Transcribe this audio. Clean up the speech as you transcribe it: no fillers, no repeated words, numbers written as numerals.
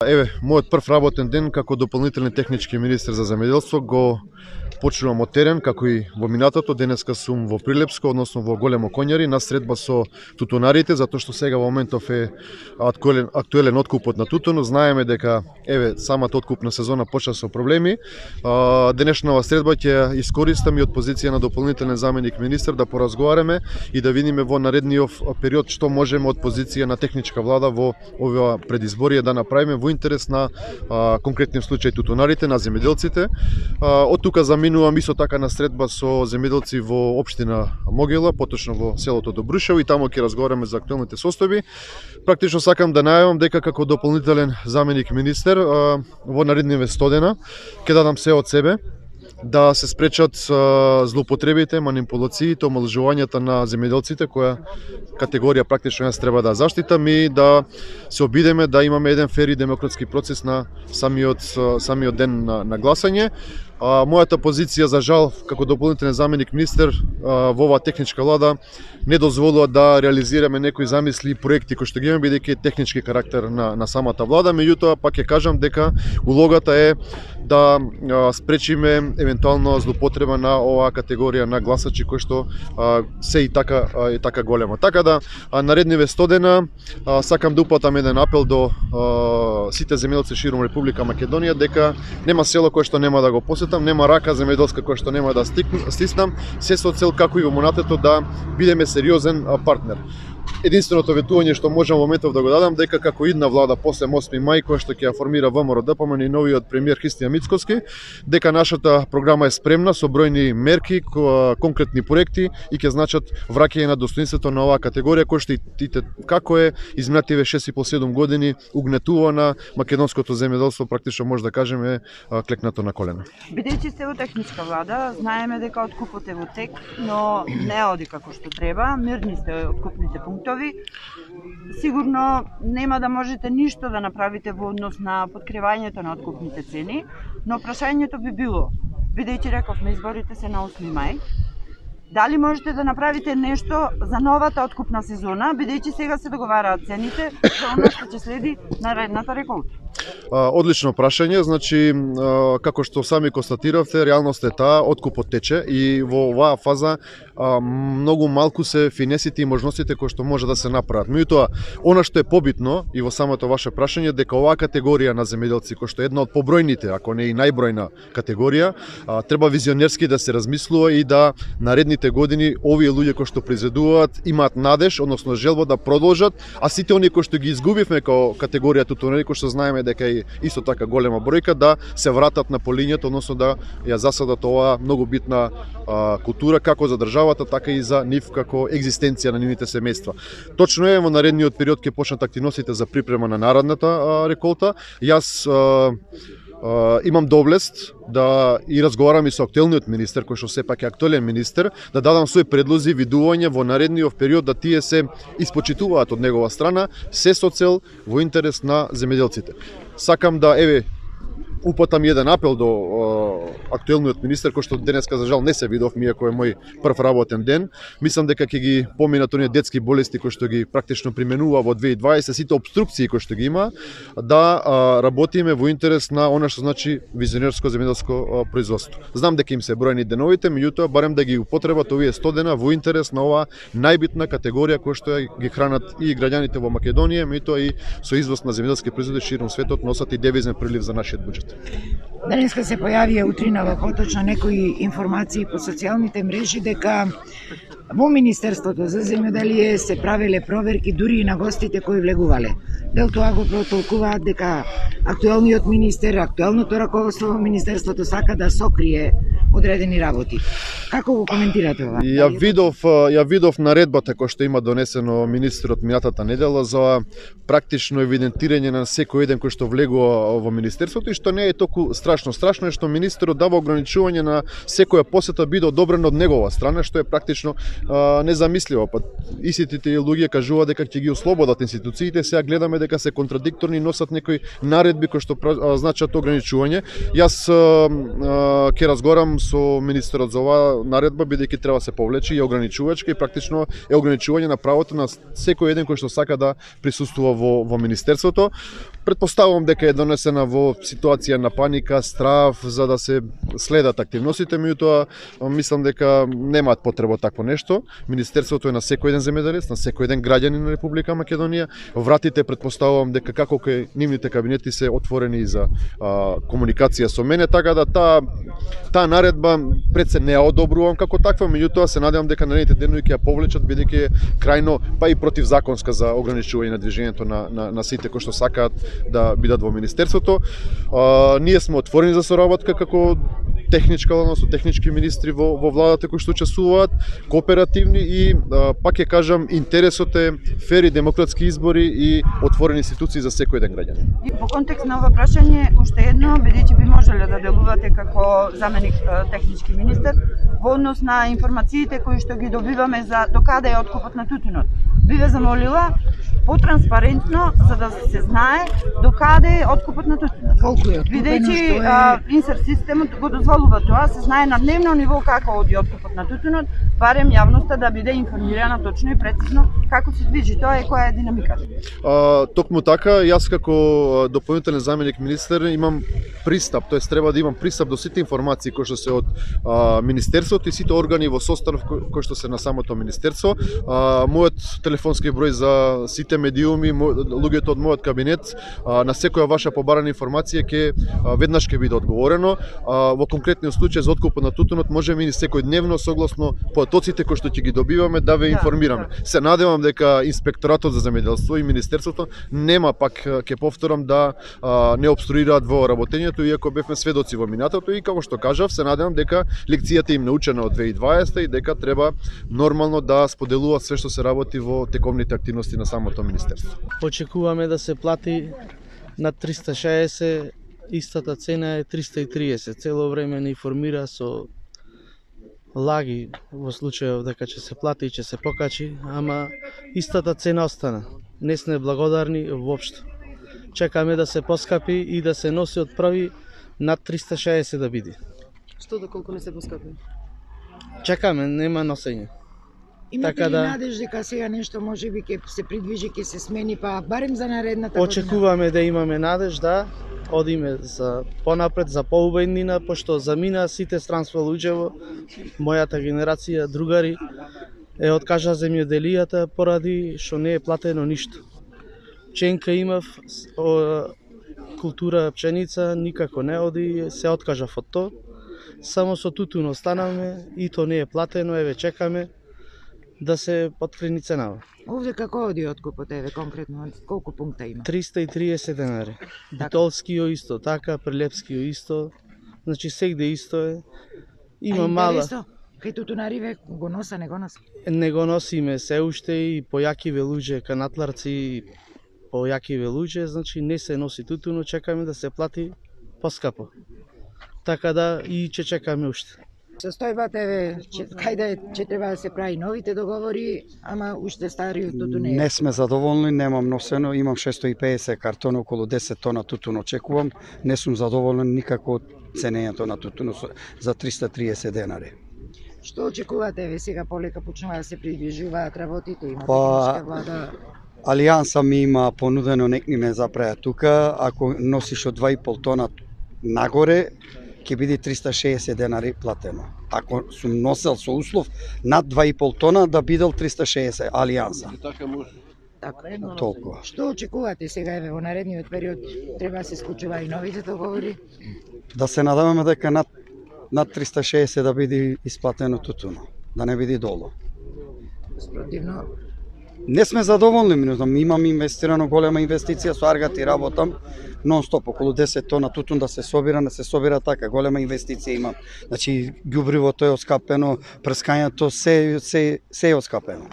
Еве, мојот прв работен ден како дополнителен технички министер за земјоделство го почнувам од терен, како и во минатото. Денеска сум во Прилепско, односно во Големо Коњари, на средба со тутунарите, затоа што сега во моментов е актуелен откупот на тутун. Знаеме дека еве самата откупна сезона почна со проблеми. Денешнава средба ќе искористам и од позиција на дополнителен заменик министер да поразговараме и да видиме во наредниот период што можеме од позиција на техничка влада во ова предизборие да направиме во интерес на конкретниот случај тутунарите, на земјоделците. Од тука заминувам исто така на средба со земјоделци во општина Могила, поточно во селото Добрушево, и таму ќе разговараме за актуелните состојби. Практично сакам да најавам дека како дополнителен заменик министер во наредниве 100 дена ќе дадам се од себе да се спречат злоупотребите, манипулациите, омалжувањата на земјоделците, која категорија практично јас треба да заштитам, и да се обидеме да имаме еден фер и демократски процес на самиот ден на гласање. Мојата позиција, за жал, како дополнителен заменик министер во оваа техничка влада не дозволува да реализираме некои замисли и проекти кои што ги имаме, бидејќи е технички карактер на самата влада. Меѓутоа, пак ќе кажам дека улогата е да спречиме евентуално злоупотреба на оваа категорија на гласачи кои што се и така голема. Така да, наредниве 100 дена сакам да упатам еден апел до сите земјоделци широм Република Македонија дека нема село кое што нема да го посетам, нема рака земјоделска која што нема да стиснам, се со цел како и во монатето да бидеме сериозен партнер. Единственото ветување што можам во моментов да го дадам дека како идна влада после 8 мај која што ќе ја формира ВМРО-ДПМН и новиот премиер Христијан Мицкоски, дека нашата програма е спремна со бројни мерки, конкретни проекти и ќе значат враќање на достоинството на оваа категорија која што како е изминативе 6,5-7 години угнетувана македонското земјоделство, практично може да кажеме клекнато на колена. Бидејќи сте во техничка влада, знаеме дека откупот е во тек, но не оди како што треба. Мирни сте откупните пунктови. Сигурно нема да можете ништо да направите во однос на подкривањето на откупните цени, но прашањето би било, бидејќи рековме изборите се на 8 мај, дали можете да направите нешто за новата откупна сезона, бидејќи сега се договараат цените за оно што ќе следи наредната реколта? Одлично прашање, значи како што сами констатиравте, реалност е таа, откупот тече и во оваа фаза многу малку се финесите и можностите кои што може да се направат. Меѓутоа, она што е побитно и во самото ваше прашање, дека оваа категорија на земјоделци, кој што е една од побројните, ако не и најбројна категорија, треба визионерски да се размислува и да наредните години овие луѓе кои што произведуваат имаат надеж, односно желба да продолжат, а сите оние кои што ги изгубивме како категорија тутунари, кои што знаеме дека е исто така голема бројка, да се вратат на полињето, односно да ја засадат оваа многу битна култура како за државата, така и за нив како екзистенција на нивните семејства. Точно е, во наредниот период ќе почнат активностите за припрема на наредната реколта. Јас имам доблест да и разговарам и со актуелниот министер, кој што сепак е актуелен министер, да дадам своји предлози, видувања во наредниот период, да тие се испочитуваат од негова страна, се со цел во интерес на земјоделците. Сакам да упатам еден апел до актуелниот министер, кој што денеска за жал не се видовме, иако е мој прв работен ден. Мислам дека ќе ги поминат оние детски болести кои што ги практично применува во 2020, сите обструкции кои што ги има, да работиме во интерес на она што значи визионерско земјоделско производство. Знам дека им се бројни деновите, меѓутоа барем да ги употребат овие 100 дена во интерес на оваа најбитна категорија која што ги хранат и граѓаните во Македонија, меѓутоа и со извоз на земјоделски производи широм светот носат и девизен прилив за нашиот буџет. Денеска се појавија утринава поточно некои информации по социјалните мрежи дека во Министерството за земјоделие се правеле проверки дури и на гостите кои влегувале. Дел тоа го протолкуваат дека актуелниот министер, актуелното раководство во Министерството сака да сокрие одредени работи. Како го коментирате ова? Ја видов наредбата која што има донесено министерот минатата недела за практично евидентирање на секој еден кој што влегува во Министерството, и што не е толку страшно. Страшно е што министерот дава ограничување на секоја посета биде одобрена од негова страна, што е практично незамисливо. Истите тие луѓе кажуваат дека ќе ги ослободат институциите, сега гледаме дека се контрадикторни, носат некои наредби кои што значат ограничување. Јас ќе разговарам со министерот за оваа наредба, бидејќи треба да се повлече и ограничувачка, и практично е ограничување на правото на секој еден кој што сака да присуствува во Министерството. Претпоставувам дека е донесена во ситуација на паника, страв, за да се следат активностите, меѓутоа мислам дека немаат потреба такво нешто. Министерството е на секој еден земјоделец, на секој еден граѓанин на Република Македонија. Вратите претпоставувам дека како кај нивните кабинети се отворени за комуникација со мене, така да таа наредба пред се не ја одобрувам како таква, меѓутоа се надевам дека наредните денови ќе ја повлечат, бидејќи е крајно па и противзаконска за ограничување на движењето на сите кои што сакаат да бидат во министерството. Ние сме отворени за соработка како техничка, односно технички министри во владата кои што учествуваат, кооперативни и пак ќе кажам интересот е фери демократски избори и отворени институции за секој еден граѓанин. Во контекст на ова прашање, уште едно, бидејќи би можеле да делувате како заменик технички министер во однос на информациите кои што ги добиваме за докаде е откупот на тутунот. Би ве замолила потранспарентно, за да се знае докаде е откупот на тутунот. Колку е откупено, Бидејќи инсер системот го дозволува тоа, се знае на дневно ниво како оди откупот на тутунот, барем јавноста да биде информирана точно и прецизно како се движи тоа и која е динамиката. Токму така, јас како дополнителен заменик министер имам пристап, тоест треба да имам пристап до сите информации кои што се од министерството и сите органи во состав кои што се на самото министерство. Мојот телефонски број за сите медиуми, луѓето од мојот кабинет, на секоја ваша побарана информација ќе веднаш ќе биде одговорено. Во конкретниот случај за откупот на тутунот можеме и секојдневно согласно потоците кои што ќе ги добиваме да ве информираме. Се надевам дека инспекторатот за земјоделство и министерството нема, пак ќе повторам, да не обструираат во работењето, иако бевме сведоци во минатото и како што кажав, се надевам дека лекцијата им научена од 2020 и дека треба нормално да споделуваат све што се работи во тековните активности на самото министерство. Очекуваме да се плати на 360, истата цена е 330. Цело време не информира со лаги во случајов дека ќе се плати и ќе се покачи, ама истата цена остана. Не сме благодарни воопшто. Чекаме да се поскапи и да се носи од први над 360 да биде. Што доколку не се поскапи? Чекаме, нема носење. Имате Така ли да надеж дека сега нешто можеби ќе се придвижи, ќе се смени, па барем за наредната година? Очекуваме да имаме надеж, да одиме за понапред, за поубеднина, пошто замина сите странство луѓево, мојата генерација, другари, е откажа земјоделијата поради што не е платено ништо. Ченка имав, култура пченица, никако не оди, се откажав од тоа. Само со тутун останавме и то не е платено, еве чекаме да се подкрени ценава. Овде како оди откупот, еве конкретно, колку пункта има? 330 денари. Битолскио исто така, Прилепскио исто, значи сегде исто е. Има мала. Кај тутунариве го носа, не го носа? Не го носиме се уште и појакиве луѓе, канатларци, појакиве луѓе, значи не се носи тутуно, чекаме да се плати поскапо. Така да и ќе чекаме уште. Состојбата е, кајде ќе треба да се прави новите договори, ама уште стариот тутун не е. Не сме задоволни, немам носено, имам 650 картона, околу 10 тона тутун очекувам. Не сум задоволен никако од ценењето на тутун за 330 денари. Што очекувате, еве сега полека почнува да се придвижуваат работите, има Па, техничка влада? Алијанса ми има понудено, некни ме запреа тука, ако носиш од 2,5 тона нагоре, ќе биде 360 денари платено. Ако сум носел со услов над 2,5 тона да бидел 360 Алијанса. Така. Толку. Што очекувате сега, еве во наредниот период, треба да се склучува и новите договори? Да се надеваме дека над 360 да биде исплатено тутуно, да не биде долу. Спротивно, Не сме задоволни, минутам, имам инвестирано голема инвестиција со Аргати, работам нон-стоп, околу 10 тона тутун да се собира така, голема инвестиција имам. Значи, ѓубривото е оскапено, прскањето, се е оскапено.